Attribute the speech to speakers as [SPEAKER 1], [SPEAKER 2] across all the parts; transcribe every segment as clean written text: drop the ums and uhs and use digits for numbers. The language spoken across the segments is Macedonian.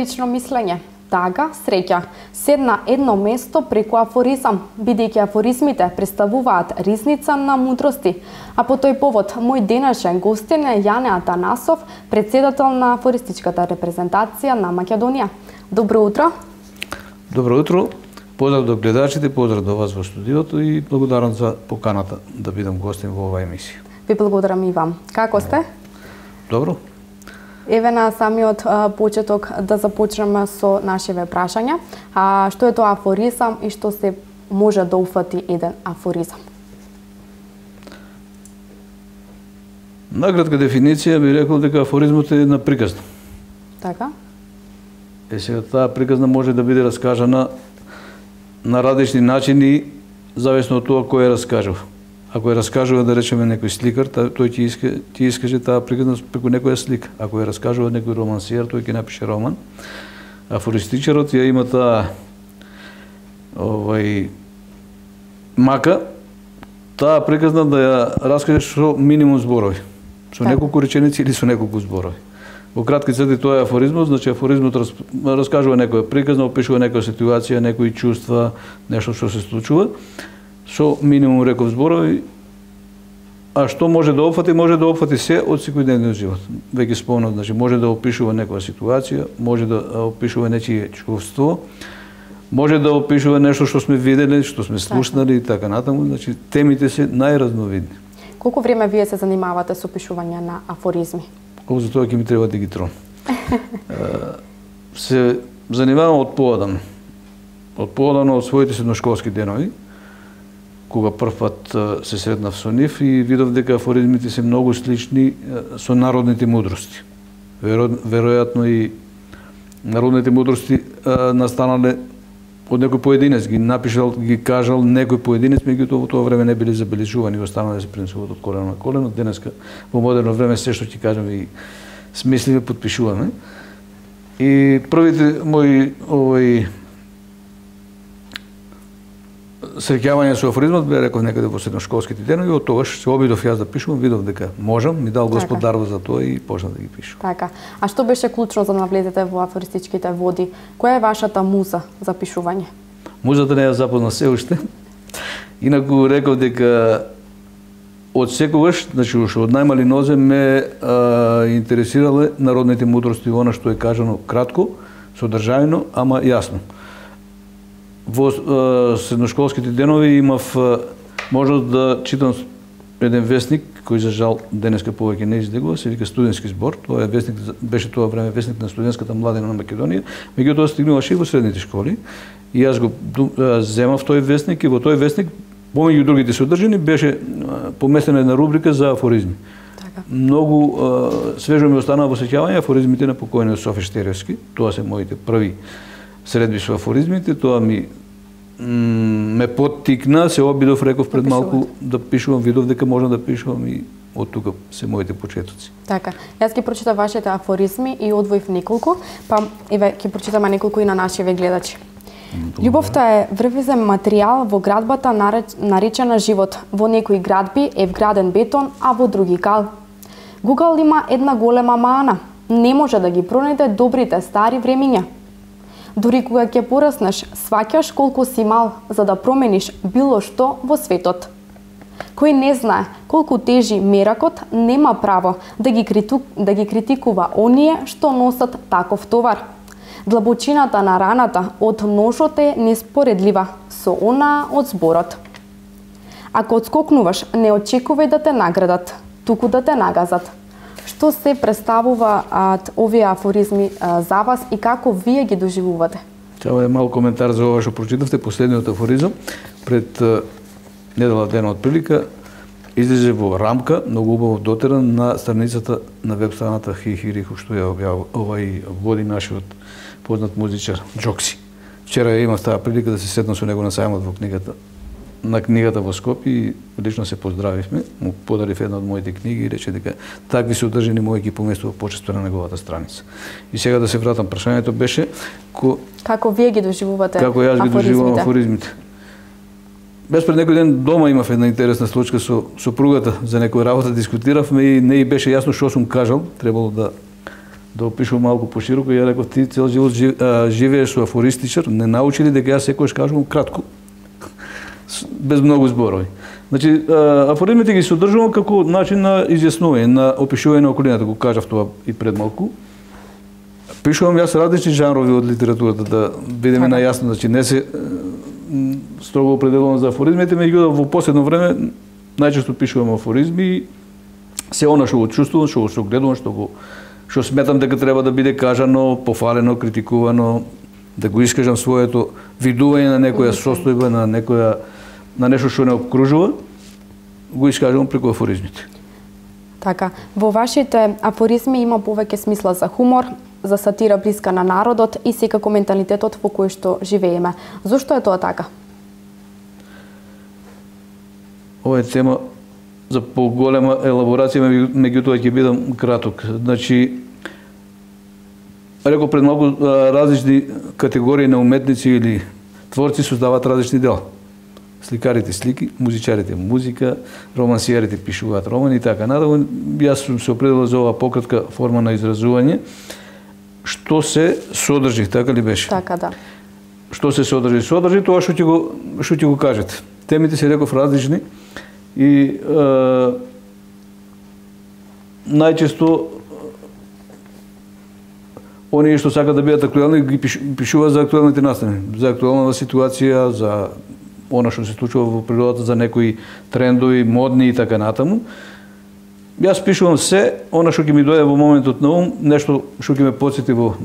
[SPEAKER 1] лично мислење, тага, среќа, седна едно место преку афоризам, бидејќи афоризмите представуваат ризница на мудрости. А по тој повод, мој денешен гостин е Јане Атанасов, председател на афористичката репрезентација на Македонија. Добро утро!
[SPEAKER 2] Добро утро! Поздрав до гледачите, поздрав до вас во студиото и благодарам за поканата да бидам гостин во оваа емисија.
[SPEAKER 1] Ви благодарам и вам. Како сте?
[SPEAKER 2] Добро.
[SPEAKER 1] Еве на самиот почеток да започнеме со нашиве прашања. Што е тоа афоризам и што се може да упфати еден афоризам?
[SPEAKER 2] Накратка дефиниција би рекол дека афоризмот е една приказна.
[SPEAKER 1] Така?
[SPEAKER 2] Сега таа приказна може да биде раскажана на различни начини, зависно од тоа кој ја раскажува. Ако ја раскажува, да речеме, некој сликар, тој ќе искаже таа приказна преку некоја слика. Ако ја раскажува некој романсиер, тој ќе напише роман. Афористичарот ја има таа мака, таа приказна да ја раскаже со минимум зборови. Со неколку реченици или со неколку зборови. Во кратки црти тоа е афоризмот, значи афоризмот раскажува некоја приказна, опишува некоја ситуација, некои чувства, нешто што се случува, со минимум реков зборови. А што може да опфати? Може да опфати се од секојдневниот живот. Веќе спомнав, значи може да опишува некоја ситуација, може да опишува нечие чувство, може да опишува нешто што сме виделе, што сме слушнали и така натаму, значи темите се најразновидни.
[SPEAKER 1] Колку време вие се занимавате со опишување на афоризми?
[SPEAKER 2] За тоа ќе ми треба дигитрон. Се занимавам од поодамно. Од поодамно од своите средношколски денови, кога прв пат се сретнав со нив и видов дека афоризмите се многу слични со народните мудрости. Веројатно и народните мудрости настанале од некој поединец, ги напишал, ги кажал некој поединец, меѓутоа во тоа време не биле забележувани и останале да се пренесуваат од колено на колено. Денеска во модерно време се што ќе кажеме и смисливе потпишуваме. И првите мои среќавања со афоризмот бе, реков, некаде во средношколските денови, од тогаш се обидов јас да пишувам, видов дека можам, ми дал Господ дарба за тоа и почнав да ги пишувам.
[SPEAKER 1] Така. А што беше клучно за да навлезете во афористичките води? Која е вашата муза за пишување?
[SPEAKER 2] Музата не ја запозна се уште. Инаку реков дека од секогаш, значи уште од најмали нозе ме интересирале народните мудрости, она што е кажано кратко, содржајно, ама јасно. Во средношколските денови имав можност да читам еден весник, кој за жал денеска повеќе не излегува, се вика Студентски збор. Тоа е весник, беше тоа време весник на студентската младина на Македонија, меѓутоа стигнуваше и во средните школи. И јас го земав тој весник и во тој весник, помеѓу другите содржини, беше поместена една рубрика за афоризми.
[SPEAKER 1] Така.
[SPEAKER 2] Многу свежо ми останаа во сеќавање афоризмите на покојниот Софе Штеревски. Тоа се моите први средби со афоризмите, тоа ме поттикна, се обидов, реков пред малку да пишувам, видов дека можам да пишувам и од тука се моите почетоци.
[SPEAKER 1] Така, јас ќе прочитам вашите афоризми и одвоив неколку, па еве ќе прочитаме неколку и на нашиве гледачи. Љубовта е врвизен материјал во градбата наречена живот. Во некои градби е вграден бетон, а во други кал. Гугал има една голема мана. Не може да ги пронајде добрите стари времиња. Дури кога ќе пораснеш, сваќаш колку си мал за да промениш било што во светот. Кој не знае колку тежи меракот, нема право да ги критикува оние што носат таков товар. Длабочината на раната од ножот е неспоредлива со она од зборот. Ако одскокнуваш, не очекувај да те наградат, туку да те нагазат. Што се представуваат овие афоризми за вас и како вие ги доживувате?
[SPEAKER 2] Тоа е мал коментар за ова што прочитавте, последниот афоризам. Пред недела дена од прилика излезе во рамка, многу убаво дотеран на страницата на веб страната Хихириху, што ја води нашиот познат музичар Джокси. Вчера ја имав таа прилика да се седнам со него на сајмот на книгата во Скопје и лично се поздравивме, му подарив една од моите книги и рече дека такви содржини мои ги поместува почесто на неговата страница. И сега да се вратам, прашањето беше
[SPEAKER 1] како вие ги доживувате
[SPEAKER 2] афоризмите? Како јас ги доживувам афоризмите? Без пред некој ден дома имав една интересна случка со сопругата, за некоја работа дискутиравме и не и беше јасно што сум кажал, требало да да опишувам малку пошироко, ја реков ти цел живот живееш со афористичар, не научи ли дека јас секогаш кажувам кратко, без многу зборови. Значи, афоризмите ги содржувам како начин на изјаснување, на опишување на околината, го кажав тоа и пред малку. Пишувам јас различни жанрови од литературата, да бидеме најасно, значи не се строго определено за афоризмите, меѓутоа во последно време најчесто пишувам афоризми и се она што го чувствувам, што го гледувам, што сметам дека треба да биде кажано, пофалено, критикувано, да го искажам своето видување на некоја состојба, на нешто што не обкружува, го искажувам преку афоризмите.
[SPEAKER 1] Така, во вашите афоризми има повеќе смисла за хумор, за сатира блиска на народот и секако менталитетот во кој што живееме. Зошто е тоа така?
[SPEAKER 2] Ова е тема за поголема елаборација, меѓутоа ќе бидам краток. Значи, реков пред малку, различни категории на уметници или творци создаваат различни дела. Сликарите слики, музичарите музика, романсиерите пишуваат романи и така натаму. Јас сум се определил за оваа пократка форма на изразување. Што се содржи, така ли беше?
[SPEAKER 1] Така, да.
[SPEAKER 2] Што се содржи? Содржи тоа што ќе го кажете. Темите се реков различни и најчесто оние што сакаат да бидат актуелни ги пишуваат за актуелните настани, за актуелната ситуација, за она што се случува во природата, за некои трендови, модни и така натаму. Јас пишувам се она што ќе ми дојде во моментот на ум, нешто што ќе ме потсети во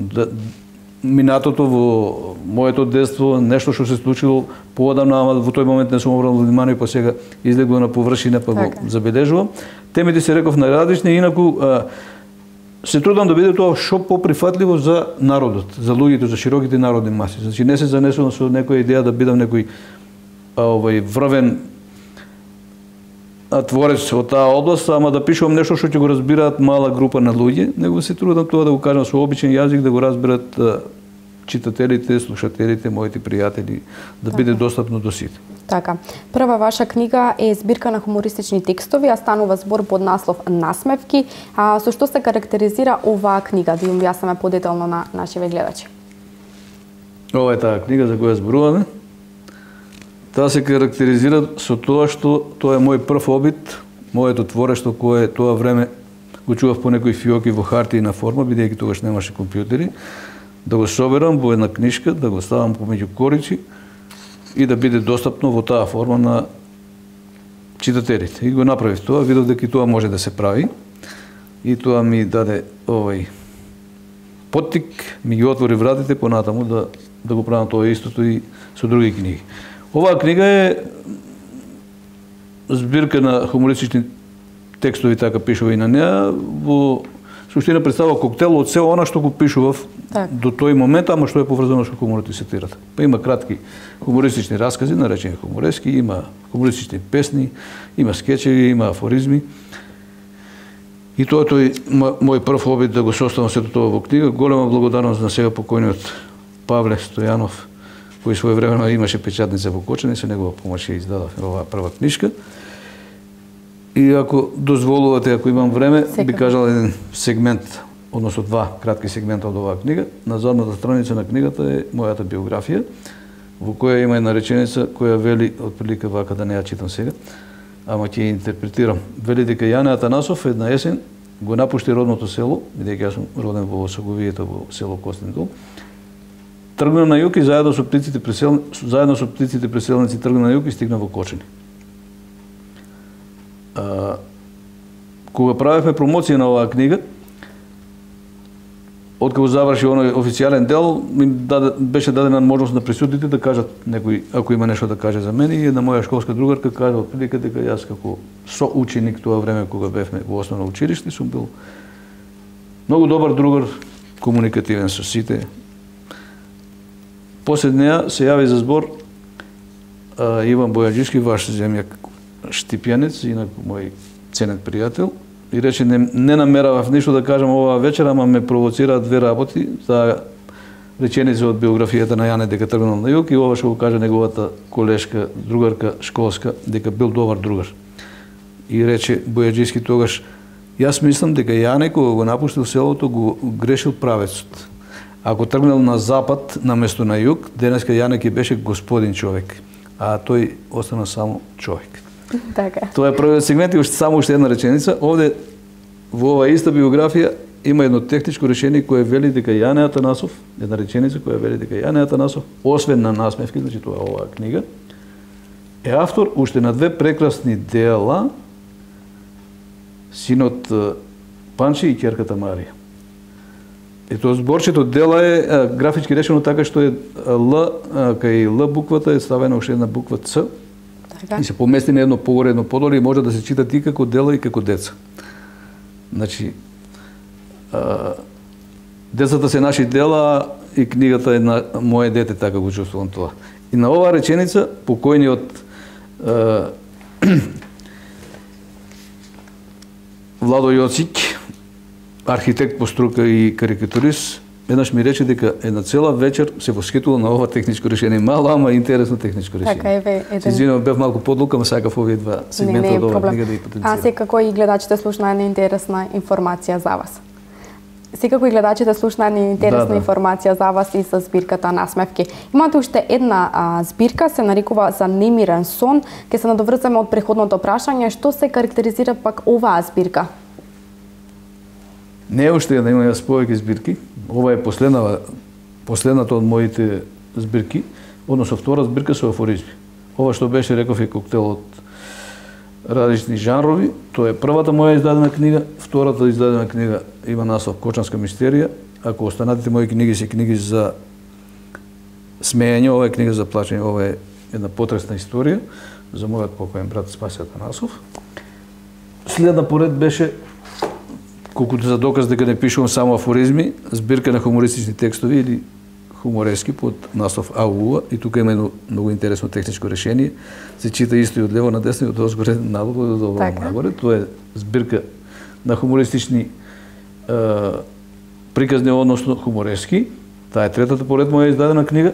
[SPEAKER 2] минатото, во моето детство, нешто што се случило поодамна, ама во тој момент не сум обратил внимание, па сега излегува на површина, па го забележувам. Темите се реков најразлични, инаку се трудам да биде тоа што поприфатливо за народот, за луѓето, за широките народни маси. Значи не се занесувам со некоја идеја да бидам некој врвен творец од таа област, ама да пишувам нешто што ќе го разбираат мала група на луѓе, него се трудам тоа да го кажам со обичен јазик, да го разберат читателите, слушателите, моите пријатели, да биде достапно до сите.
[SPEAKER 1] Така. Прва ваша книга е збирка на хумористични текстови, а станува збор под наслов Насмевки. Со што се карактеризира оваа книга? Да ја објаснеме подетално на нашите гледачи.
[SPEAKER 2] Ова е таа книга за која зборуваме. Таа се карактеризира со тоа што тоа е мој прв обид, моето творештво кое тоа време го чував по некои фиоки во хартијна форма, бидејќи тогаш немаше компјутери, да го соберам во една книшка, да го ставам помеѓу корици и да биде достапно во таа форма на читателите. И го направив тоа, видов дека и тоа може да се прави. И тоа ми даде поттик, ми ги отвори вратите понатаму да го правам тоа истото и со други книги. Оваа книга е збирка на хумористични текстови, така пишува и на неа, во суштина представува коктел од се она што го пишував до тој момент, ама што е поврзано со хуморот и сатирата. Па има кратки хумористични раскази, наречени хуморески, има хумористични песни, има скечеви, има афоризми. И тоа е тој мој прв обид да го составам сето тоа во книга. Голема благодарност на сега покојниот Павле Стојанов, кој своевремено имаше печатница во Кочани, со негова помош ја издадов оваа прва книшка. И ако дозволувате, ако имам време, би кажал еден сегмент, односно два кратки сегмента од оваа книга. На задната страница на книгата е мојата биографија, во која има една реченица која вели, отприлика вака, да не ја читам сега, ама ќе ја интерпретирам. Вели дека Јане Атанасов една есен го напушти родното село, бидејќи јас сум роден во Осоговијата, во село Костин дол. Тргна на југ и заедно со птиците преселници тргна на југ и стигна во Кочани. Кога правевме промоција на оваа книга, откако заврши оној официјален дел, беше дадена можност на присутните да кажат некој, ако има нешто да каже за мене, и една моја школска другарка кажа отприлика дека јас како соученик тоа време кога бевме во основно училиште сум бил многу добар другар, комуникативен со сите. После неа се јави за збор Иван Бојаджиски, ваш земјак Штипјанец, инак мој ценет пријател, и рече не намеравав ништо да кажам оваа вечер, ама ме провоцираат две работи, таа реченица од биографијата на Јане дека тргнал на југ и ова што го каже неговата колешка, другарка школска, дека бил добар другар. И рече Бојаджиски тогаш, Јас мислам дека Јане кога го напуштил селото го грешил правецот. Ако тргнал на запад наместо на југ, денеска Јане ќе беше господин човек, а тој остана само човек.
[SPEAKER 1] Така.
[SPEAKER 2] Тоа е првиот сегмент и само уште една реченица. Овде во оваа иста биографија има едно техничко решение кое вели дека Јане Атанасов, една реченица која вели дека Јане Атанасов, освен на насмевки, значи тоа е оваа книга, е автор уште на две прекрасни дела, Синот Панчи и ќерката Марија. И тоа зборчето дела е графички решено така што е Л, кај Л буквата е ставена уште една буква Ц,
[SPEAKER 1] Така.
[SPEAKER 2] и се помести на едно погоре, едно подоле и може да се читат и како дела и како деца. Значи, децата се наши дела и книгата е на моје дете, така го чувствувам тоа. И на оваа реченица, покојниот Владо Јоцик, архитект по струка и карикатурист, еднаш ми рече дека една цела вечер се восхитувал на ова техничко решение. Мало, ама интересно техничко решение.
[SPEAKER 1] Така е,
[SPEAKER 2] Се извинувам, бев малку подлука, ама сакав овие два сегмента од оваа книга да ги потенцирам.
[SPEAKER 1] А секако и гледачите слушна една интересна информација за вас. Секако и гледачите слушна една интересна информација за вас и за збирката Насмевки. Имате уште една збирка, се нарекува За немирен сон. Ке се надоврзаме од преходното прашање, што се карактеризира пак оваа збирка?
[SPEAKER 2] Не уште една, имам јас повеќе збирки. Ова е последната од моите збирки, односно втора збирка со афоризми. Ова што беше, реков, е коктел од различни жанрови. Тоа е првата моја издадена книга, втората издадена книга има наслов Кочанска мистерија. Ако останатите мои книги се книги за смеење, ова е книга за плачење, ова е една потресна историја за мојот покоен брат Спаси Атанасов. Следна поред беше, колкото за доказ дека не пишувам само афоризми, збирка на хумористични текстови или хуморески под наслов АУА, и тука има едно многу интересно техничко решение. Се чита исто и од лево на десно и од озгоре надолу и од долу нагоре. Тоа е збирка на хумористични приказни, односно хуморески. Таа е третата поред моја издадена книга.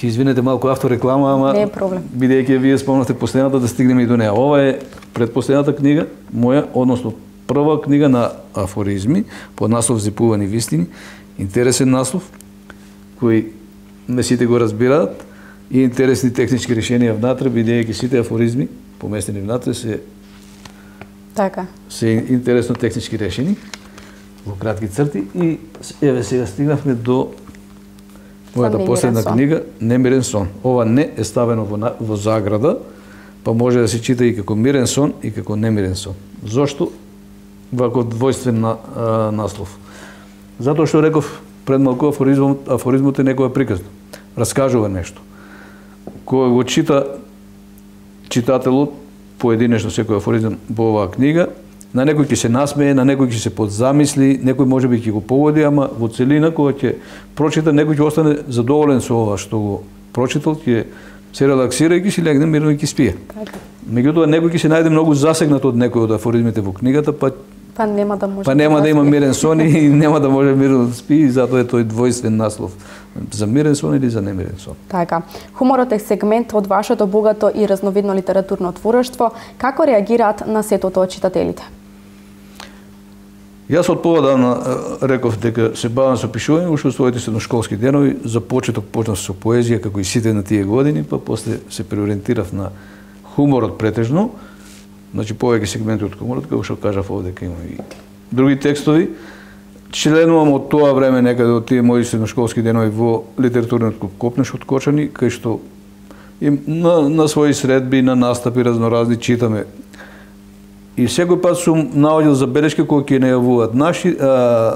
[SPEAKER 2] Ќе извинете малку автореклама, ама
[SPEAKER 1] не е проблем.
[SPEAKER 2] Бидејќи вие спомнавте последната, да стигнеме и до неа. Ова е предпоследната книга моја, односно прва книга на афоризми под наслов Зипувани вистини. Интересен наслов кој не сите го разбираат и интересни технички решенија внатре, бидејќи сите афоризми поместени внатре се
[SPEAKER 1] така.
[SPEAKER 2] Се интересно технички решени во кратки црти и еве сега стигнавме до мојата последна книга Немирен сон. Ова не е ставено во заграда, па може да се чита и како мирен сон и како немирен сон. Зошто ваков двојствен наслов? Затоа што реков пред малку, афоризмот е некоја приказна. Раскажува нешто. Кога го чита читателот поединечно секој афоризм во оваа книга, на некој ќе се насмее, на некој ќе се подзамисли, некој можеби ќе го погоди, ама во целина кога ќе прочита, некој ќе остане задоволен со ова што го прочитал, ќе се релаксира и ќе си легне мирно и ќе спие. Меѓутоа некој ќе се најде многу засегнат од некој од афоризмите во книгата,
[SPEAKER 1] па нема да може.
[SPEAKER 2] Па нема да има мирен сон и нема да може мирно да спи, и затоа е тој двојствен наслов. За мирен сон или за немирен сон.
[SPEAKER 1] Така. Хуморот е сегмент од вашето богато и разновидно литературно творештво. Како реагираат на сетото од читателите?
[SPEAKER 2] Јас од поводавна реков дека се бавам со пишување уште во своите средношколски денови. За почеток почнав со поезија, како и сите на тие години, па после се преориентирав на хуморот претежно. Значи повеќе сегменти од хуморот, како што кажав овде, дека има и други текстови. Членувам од тоа време некаде од тие мои средношколски денови во литературниот клуб Копнеш од Кочани, кај што на своји средби, на настапи разноразни читаме. И секој пат сум наоѓал забелешки кои ќе најавуваат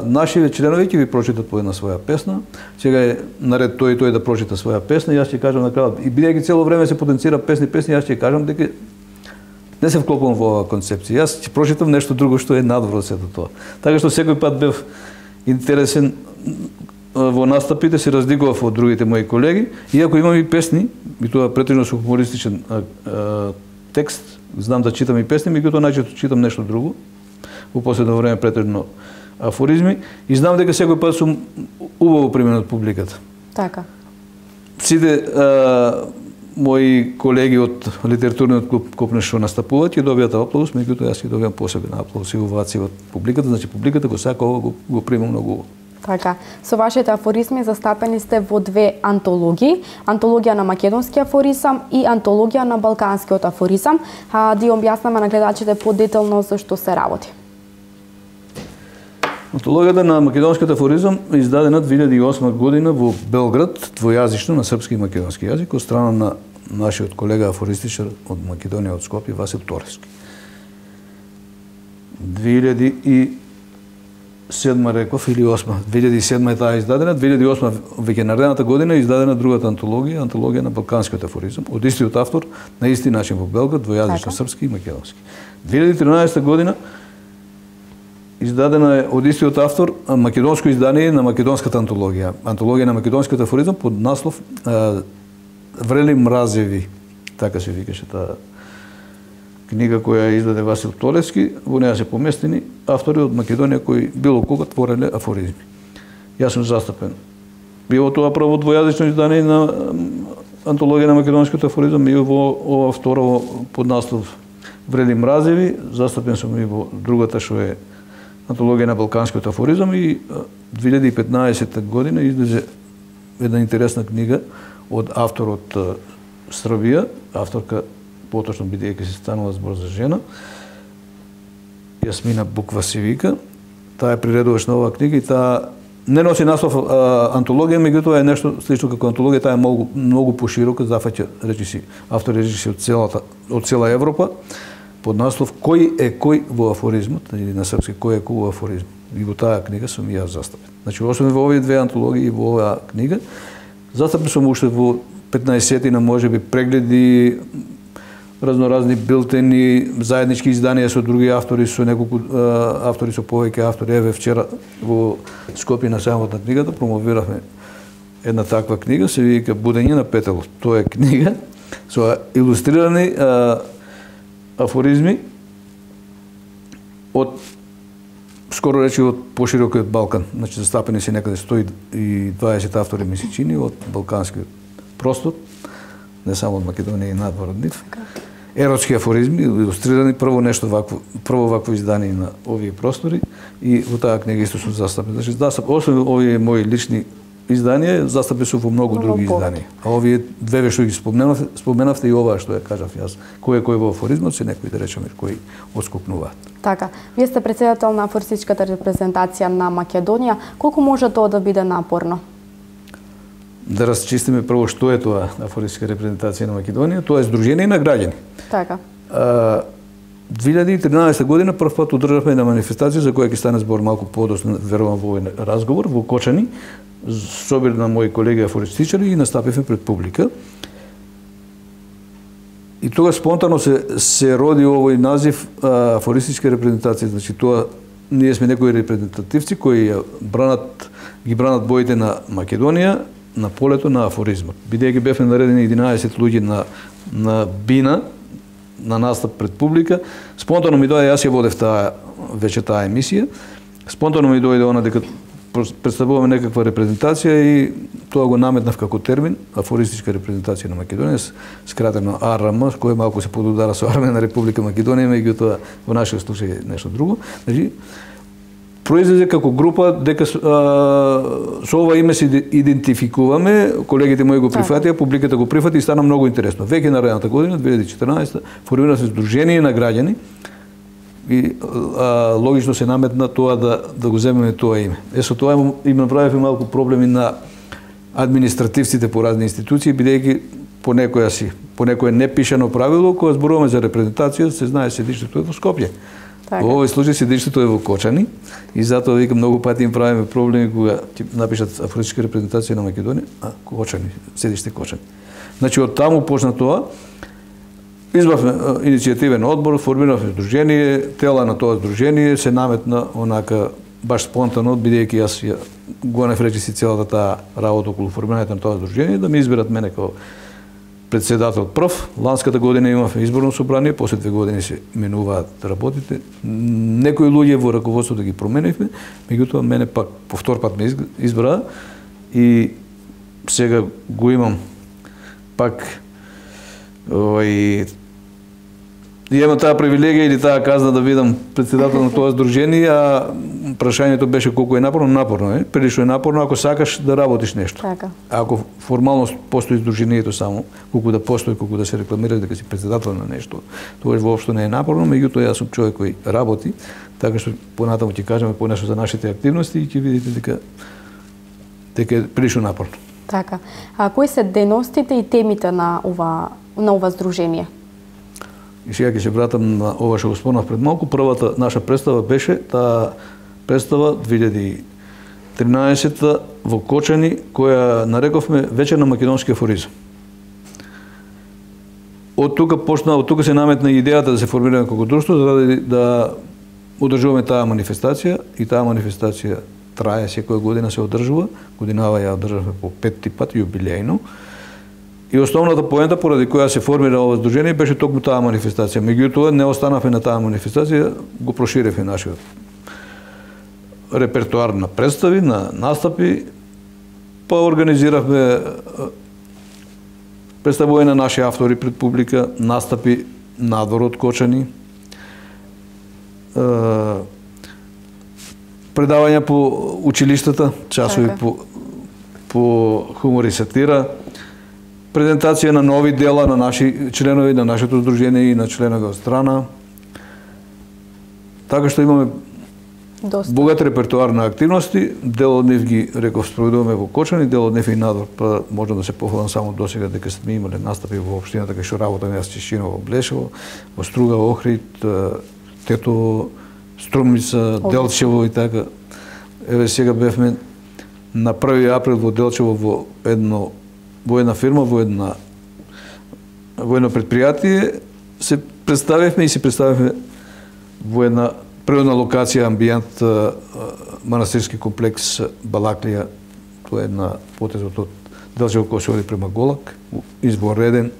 [SPEAKER 2] нашиве членови ќе ви прочитат по една своја песна. Сега е наред тој и тој да прочита своја песна, и јас ќе кажам на крајот. И бидејќи цело време се потенцира песни, јас ќе кажам дека не се вклопувам во оваа концепција. Јас ќе прочитам нешто друго што е надвор од сето тоа. Така што секој пат бев интересен во настапите, се разликував од другите мои колеги, иако имам и песни, и тоа претежно со хумористичен текст, знам да читам и песни, меѓутоа најчесто читам нешто друго. Во последно време претежно афоризми, и знам дека секој пат сум убаво примен од публиката.
[SPEAKER 1] Така.
[SPEAKER 2] Сите мои колеги од литературниот клуб Копнеш што настапуваат ќе добијат аплауз, меѓутоа јас ќе добијам посебен аплауз и овации од публиката, значи публиката го сака ова, го прима многу.
[SPEAKER 1] Така, со вашите афоризми застапени сте во две антологии, антологија на македонски афоризам и антологија на балканскиот афоризам. Да објаснаме на гледачите подетелно за што се работи.
[SPEAKER 2] Антологијата на македонскиот афоризам е издадена 2008 година во Белград, двојазично на српски и македонски јазик, од страна на нашиот колега афористичар од Македонија, од Скопје, Васил Торевски. 2007 реков или 2008. 2007 е таа издадена, 2008 веќе наредната година е издадена другата антологија, антологија на балканскиот афоризам, од истиот автор, на исти начин во Белград, двојазично српски и македонски. 2013 година издадена е од истиот автор македонско издание на македонската антологија. Антологија на македонскиот афоризам под наслов Врели мразеви, така се викаше таа книга која издаде Васил Торевски. Во неа се поместени автори од Македонија кои било кога твореле афоризми. Јас сум застапен. Било тоа прво двојазично издание на антологија на македонскиот афоризам и во ова второ под наслов Врели мразеви. Застапен сум и во другата што е антологија на балканскиот афоризам и 2015 година излезе една интересна книга од автор од Србија, авторка поточно бидејќи се станува збор за жена, Јасмина Буква се вика. Таа е приредуваш на оваа книга и таа не носи наслов антологија, меѓутоа е нешто слично како антологија, таа е многу поширока, зафаќа речиси автори речиси од цела Европа, под наслов Кој е кој во афоризмот, или на српски Кој е кој во афоризмот. И во таа книга сум и јас застапен. Значи, освен во овие две антологии и во оваа книга, застапен сум уште во 15-тина можеби прегледи, разноразни билтени, заеднички изданија со други автори, со неколку автори, со повеќе автори. Еве вчера во Скопје на самот на книгата промовиравме една таква книга, се вика Будење на петелот. Тоа е книга со илустрирани афоризми од скоро речи од поширокиот Балкан. Значи застапени се некаде 120 автори ми се чини од балканскиот простор, не само од Македонија и надвор од нив. Еротски афоризми, илустрирани прво вакво издание на овие простори и во таа книга исто сум застапен. Значи освен овие мои лични изданија, застапен сум во многу други изданија. А овие две што ги споменавте и оваа што ја кажав јас, кој е кој во афоризмот, се некои да речеме кои отскупнуваат.
[SPEAKER 1] Така, вие сте претседател на афористичката репрезентација на Македонија. Колку може тоа да биде напорно?
[SPEAKER 2] Да расчистиме прво што е тоа афористичка репрезентација на Македонија. Тоа е здружение на граѓани.
[SPEAKER 1] Така.
[SPEAKER 2] 2013 година прв пат одржавме една манифестација за која ќе стане збор малку подоцна, верувам во овој разговор во Кочани, собир на мои колеги афористичари и настапивме пред публика. И тога спонтано се роди овој назив афористичка репрезентација. Значи тоа ние сме некои репрезентативци кои ги бранат боите на Македонија на полето на афоризмот. Бидејќи бевме наредени 11 луѓе на бина на настап пред публика, спонтано ми дојде, јас ја водев вече таа емисија, спонтано ми дојде она дека представуваме некаква репрезентација и тоа го наметнав како термин, афористичка репрезентација на Македонија, скратено АРМ, кој малку се подудара со Армена Република Македонија, меѓутоа во нашиот случај нешто друго. Значи, произлезе како група дека со ова име се идентификуваме, колегите мои го прифатија, публиката го прифати и стана многу интересно. Веќе наредната година, 2014, формира се здружение на граѓани и логично се наметна тоа да го земеме тоа име. Со тоа им направивме малку проблеми на административците по разни институции, бидејќи по некое непишано правило, кога зборуваме за репрезентација, се знае седиштето е во Скопје. Во овој случај седиштето е во Кочани и затоа викам многу пати им правиме проблеми кога ќе напишат афористичка репрезентација на Македонија, Кочани, седиште Кочани. Значи од таму почна тоа. Избавме иницијативен одбор, формиравме здружение, тела на тоа здружение се наметна онака баш спонтано, бидејќи јас го нефречиси целата таа работа околу формирањето на тоа здружение, да ме изберат мене како председател прв. Ланската година имавме изборно собрание, после 2 години се менуваат работите. Некои луѓе во раководството ги променивме, меѓутоа мене пак повтор пат ме избра и сега го имам пак И имам таа привилегија или таа казна да бидам председател на тоа здружение, а прашањето беше колку е напорно, прилично е напорно ако сакаш да работиш нешто.
[SPEAKER 1] Така.
[SPEAKER 2] Ако формално постои здружението само, колку да постои, колку да се рекламира дека си председател на нешто, тоа воопшто не е напорно, меѓутоа јас сум човек кој работи, така што понатаму ќе кажеме понешто за нашите активности и ќе видите дека е прилично напорно.
[SPEAKER 1] Така. А кои се дејностите и темите на ова здружение?
[SPEAKER 2] И сега ќе се вратам на ова што го спомнав пред малку. Првата наша представа беше таа представа 2013 во Кочани, која нарековме вечер на македонски афоризам. Од тука се наметна идејата да се формираме како друштво, за да одржуваме таа манифестација, и таа манифестација трае секоја година, се одржува. Годинава ја одржавме по 5 пат јубилејно. И основната поента поради која се формира ова здружение беше токму таа манифестација. Меѓутоа не останавме на таа манифестација, го проширевме нашиот репертоар на представи, на настапи, па организиравме представување на наши автори пред публика, настапи надвор од Кочани, предавања по училиштата, часови по хумор и сатира, презентација на нови дела на наши членови, на нашето здружение и на членови од страна. Така што имаме богат репертоар на активности, дел од нив ги спроведуваме во Кочани, дел од нив и надвор, па можам да се похвалам само досега дека сме имале настапи во општината кај што работаме јас Чешиново, Блешево, во Струга, Охрид, Тетово, Струмица, Делчево и така. Еве сега бевме на 1 април во Делчево во една фирма, во едно предпријатие, се представивме и се представивме во една природна локација, амбиент, манастирски комплекс Балаклија. Тоа е една потезот од Делчево кој се оди према Голак, избореден,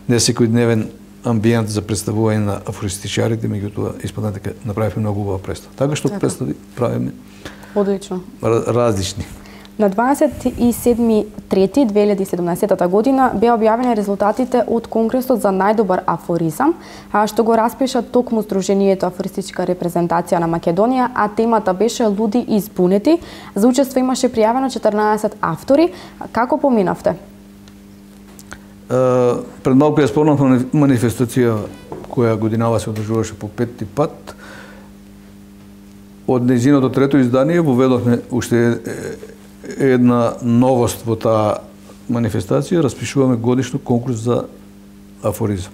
[SPEAKER 2] не секојдневен амбиент за представување на афористичарите, меѓутоа испадна дека направивме многу убава представа. Така што представи правиме
[SPEAKER 1] одлично
[SPEAKER 2] различни.
[SPEAKER 1] На 27.3.2017 година беа објавени резултатите од Конгресот за најдобар афоризам, што го распиша токму Здруженијето Афористичка репрезентација на Македонија, а темата беше Луди и збунети. За учество имаше пријавено 14 автори. Како поминавте?
[SPEAKER 2] Пред малку ја спомнав манифестација која годинава се одржуваше по 5 пат. Од нејзиното трето издание воведовме уште една новост во таа манифестација, распишуваме годишно конкурс за афоризам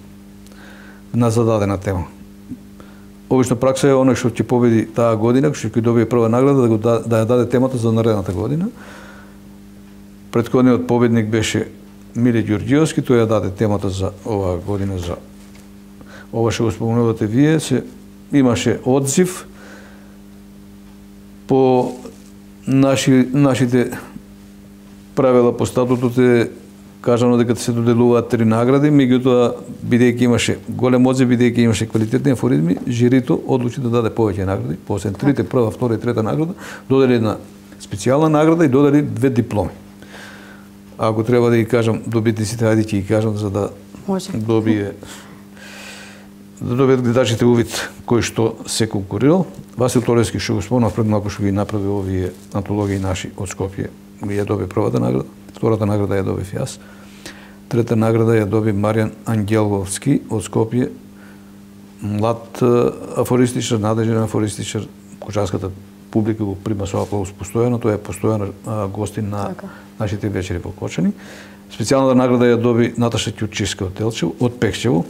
[SPEAKER 2] на зададена тема. Обично пракса е оној што ќе победи таа година, што ќе добие прва награда, да ја даде темата за наредната година. Претходниот победник беше Миле Ѓорѓиевски, тој ја даде темата за оваа година, за ова што го спомнувате вие, имаше одзив по нашите правила по статутот е кажано дека се доделуваат 3 награди, меѓутоа бидејќи имаше голем одзив, бидејќи имаше квалитетни афоризми, жирито одлучи да даде повеќе награди, посебно трите, прва, втора и трета награда, додели една специјална награда и додели 2 дипломи. Ако треба да ги кажам добитниците, ајде ќе ги кажам за да добијат гледачите увид кој што се конкурирал. Васил Толевски, што го спомнав пред малку, што ги направи овие антологии наши од Скопје, ја доби првата награда, втората награда ја добив јас, трета награда ја доби Маријан Ангеловски од Скопје, млад афористичар, надежен афористичар, кочанската публика го прима со аплауз постојано, тој е постојан гостин на нашите вечери во Кочани. Специјалната награда ја доби Наташа Ќучевска од Делчево, од Пехчево.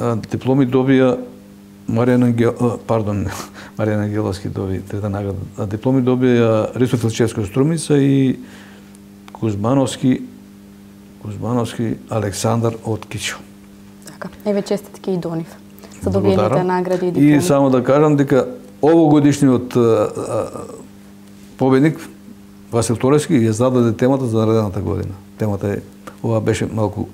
[SPEAKER 2] Дипломи добија Маријан Ангеловски доби трета награда. Дипломи добија Ристо Филчевски од Струмица и Кузмановски Александар од Кичево.
[SPEAKER 1] Така, еве честитки и до нив за добиените награди и дипломи.
[SPEAKER 2] И само да кажам дека овогодишниот победник Васил Толевски ја зададе темата за наредната година. Темата е, ова беше малку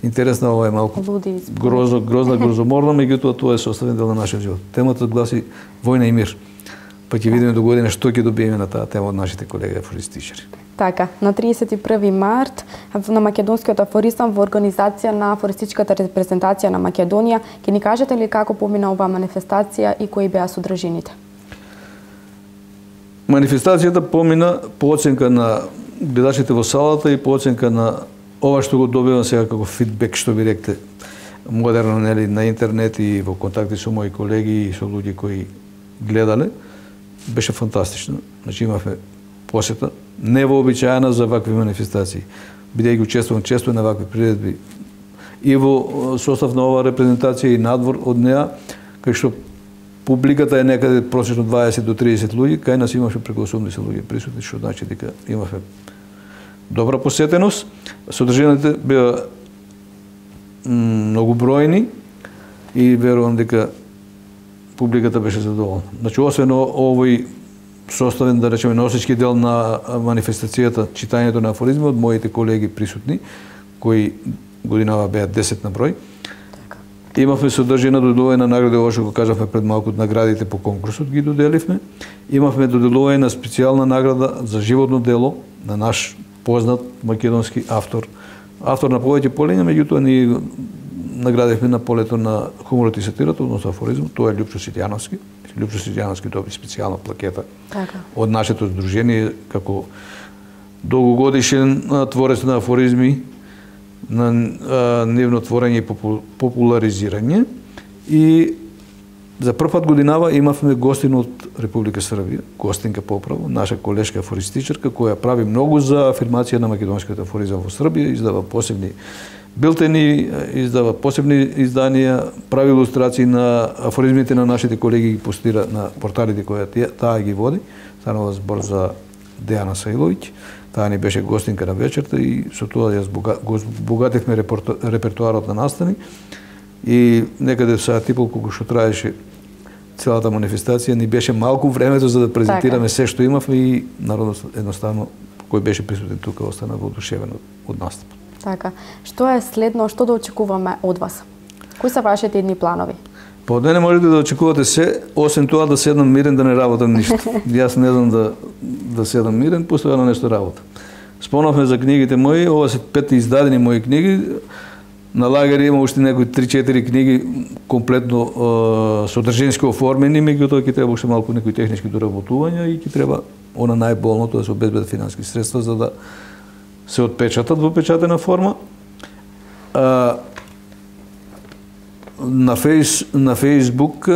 [SPEAKER 2] интересна, ова е малку грозоморна, меѓутоа тоа е составен дел на нашиот живот. Темата гласи Војна и мир. па ќе видиме до година што ќе добиеме на таа тема од нашите колеги афористичари.
[SPEAKER 1] Така, на 31 март на македонскиот афоризам во организација на афористичката репрезентација на Македонија, ќе ни кажете ли како помина оваа манифестација и кои беа содржините?
[SPEAKER 2] Манифестацијата помина по оценка на гледачите во салата и по оценка на ова што го добивам сега како фидбек, што ви ректе, модерно, нели, на интернет и во контакти со мои колеги и со луѓе кои гледале, беше фантастично. Значи имавме посета невообичаена за вакви манифестации. Бидејќи учествувам често на вакви приредби и во состав на оваа репрезентација и надвор од неа, кај што публиката е некаде просечно 20 до 30 луѓе, кај нас имаше преку 80 луѓе присутни, што значи дека имавме добра посетеност. Содржините беа многу бројни и верувам дека публиката беше задоволна. Значи, освен овој составен, да речеме, носечки дел на манифестацијата, читањето на афоризми од моите колеги присутни, кои годинава беа 10 на број.
[SPEAKER 1] Така.
[SPEAKER 2] Имавме содржина доделување на награди, ова што го кажавме пред малку, наградите по конкурсот ги доделивме. Имавме доделување на специјална награда за животно дело на наш познат македонски автор. Автор на повеќе полиња, меѓутоа ние наградивме на полето на хуморот и сатирата, односно афоризмот, тоа е Љупчо Ситјановски. Љупчо Ситјановски доби специјална плакета од нашето здружение како долгогодишен творец на афоризми, на нивно творење и популаризирање. И за прв пат годинава имавме гостин од Република Србија, гостинка поправо, наша колешка афористичарка, која прави многу за афирмација на македонскиот афоризам во Србија, издава посебни билтени, издава посебни изданија, прави илустрации на афоризмите на нашите колеги, ги постира на порталите која таа ги води. Станува збор за Дејана Саиловиќ. Таа ни беше гостинка на вечерта и со тоа ја збогативме репертуарот на настани. И некаде саат и пол колку што траеше целата манифестација, ни беше малку времето за да презентираме се што имавме и народот едноставно кој беше присутен тука остана воодушевен од настапот.
[SPEAKER 1] Така. Што е следно, што да очекуваме од вас? Кои се вашите идни планови?
[SPEAKER 2] Па од мене можете да очекувате се, освен тоа да седнам мирен, да не работам ништо. Јас не знам да седам мирен, постојано нешто работам. Спомнавме за книгите мои, ова се 5 издадени мои книги. На лагер има уште некои 3-4 книги комплетно содржински оформени, меѓутоа ќе треба уште малку некои технички доработувања и ќе треба она најболното да се обезбедат финански средства за да се отпечатат во печатена форма. На Фејсбук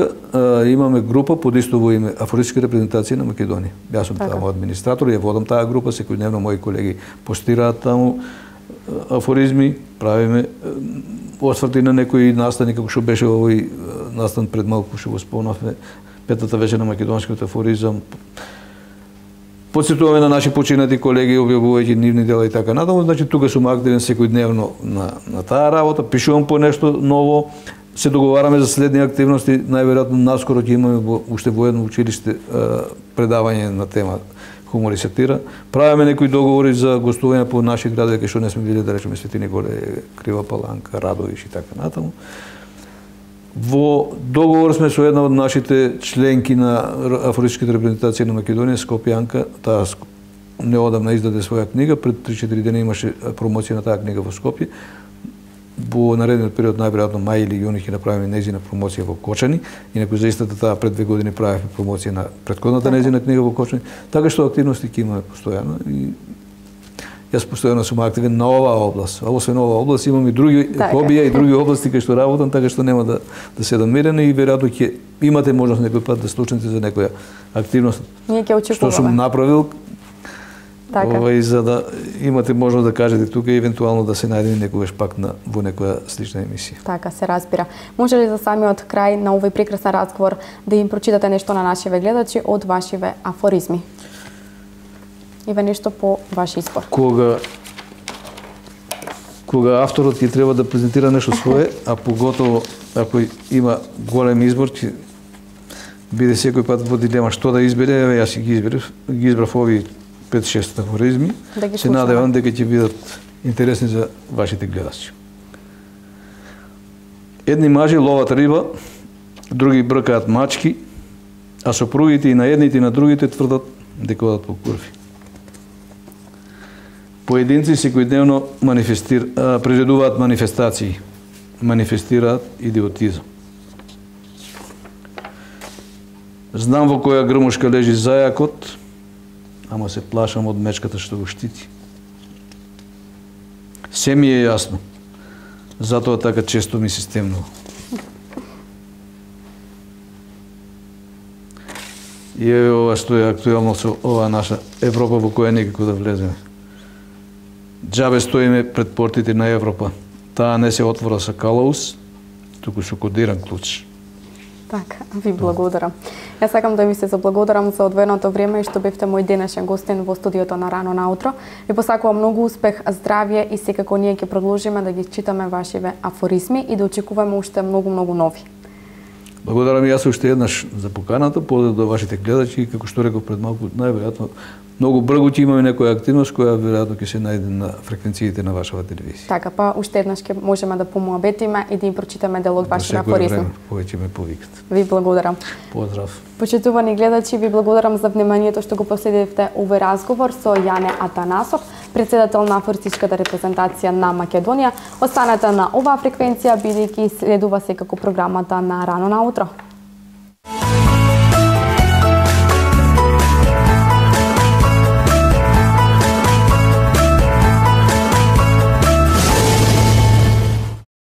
[SPEAKER 2] имаме група под исто име Афористичка репрезентација на Македонија. Јас сум таму администратор, ја водам таа група, секојдневно мои колеги постираат таму афоризми, правиме осврти на некои настани, како што беше овој настан пред малку што го спомнавме, петата вечер на македонскиот афоризам. Подсетуваме на наши починати колеги, објавувајќи нивни дела и така натаму. Значи, тука сум активен секојдневно на таа работа, пишувам по нешто ново, се договараме за следни активности, најверојатно наскоро ќе имаме уште во едно училиште предавање на тема хумор и сатира. Правиме некои договори за гостување по наши градови, кај што не сме били, да речеме Свети Николе, Крива Паланка, Радовиш и така натаму. Во договор сме со една од нашите членки на Афористичката репрезентација на Македонија, Скопјанка. Таа неодамна издаде своја книга, пред 3-4 дена имаше промоција на таа книга во Скопје. Во наредниот период, најверојатно мај или јуни, ќе направиме нејзина промоција во Кочани. Инаку за истата таа пред 2 години правевме промоција на претходната нејзина книга во Кочани. Така што активности ќе имаме постојано и јас постојано сум активен на оваа област. А освен оваа област имам и други хобија и други области кај што работам, така што нема да седам мирен и веројатно ќе имате можност некој пат да слушнете за некоја активност.
[SPEAKER 1] Ние ќе очекуваме.
[SPEAKER 2] Што сум направил.
[SPEAKER 1] Така.
[SPEAKER 2] И за да имате можност да кажете тука и евентуално да се најдеме некогаш пак во некоја слична емисија.
[SPEAKER 1] Така, се разбира. Може ли за самиот крај на овој прекрасен разговор да им прочитате нешто на нашиве гледачи од вашиве афоризми? Иве нешто по ваш избор.
[SPEAKER 2] Кога авторот ќе треба да презентира нешто свое, а поготово ако има голем избор, ќе биде секој пат во дилема што да избере, јас ги избрав овие 5-6 афоризми. Се надевам дека ќе бидат интересни за вашите гледачи. Едни мажи ловат риба, други бркаат мачки, а сопругите и на едните и на другите тврдат дека одат по курви. Поединци секојдневно приредуваат манифестации, манифестираат идиотизам. Знам во која грмушка лежи зајакот, ама се плашам од мечката што го штити. Се ми е јасно, затоа така често ми се стемнува. И ова што е актуелно со ова наша Европа во која никако да влеземе. Џабе стоиме пред портите на Европа. Таа не се отвора со калаус, туку со кодиран клуч.
[SPEAKER 1] Така, ви благодарам. Јас сакам да ви се заблагодарам за одвоеното време и што бевте мој денешен гостин во студиото на Рано наутро. Ви посакувам многу успех, здравје и секако ние ќе продолжиме да ги читаме вашиве афоризми и да очекуваме уште многу нови.
[SPEAKER 2] Благодарам и јас уште еднаш за поканата, поздрав до вашите гледачи, како што реков пред малку, најверојатно многу брзо ќе имаме некоја активност која веројатно ќе се најде на фреквенциите на вашата телевизија.
[SPEAKER 1] Така, па уште еднаш ќе можеме да помуабетиме и да им прочитаме дел од вашите афоризми.
[SPEAKER 2] Повеќе ме повикат.
[SPEAKER 1] Ви благодарам.
[SPEAKER 2] Поздрав.
[SPEAKER 1] Почитувани гледачи, ви благодарам за вниманието што го последивте овој разговор со Јане Атанасов, председател на афористичката репрезентација на Македонија. Останете на оваа фреквенција бидејќи следува секако програмата на Рано наутро.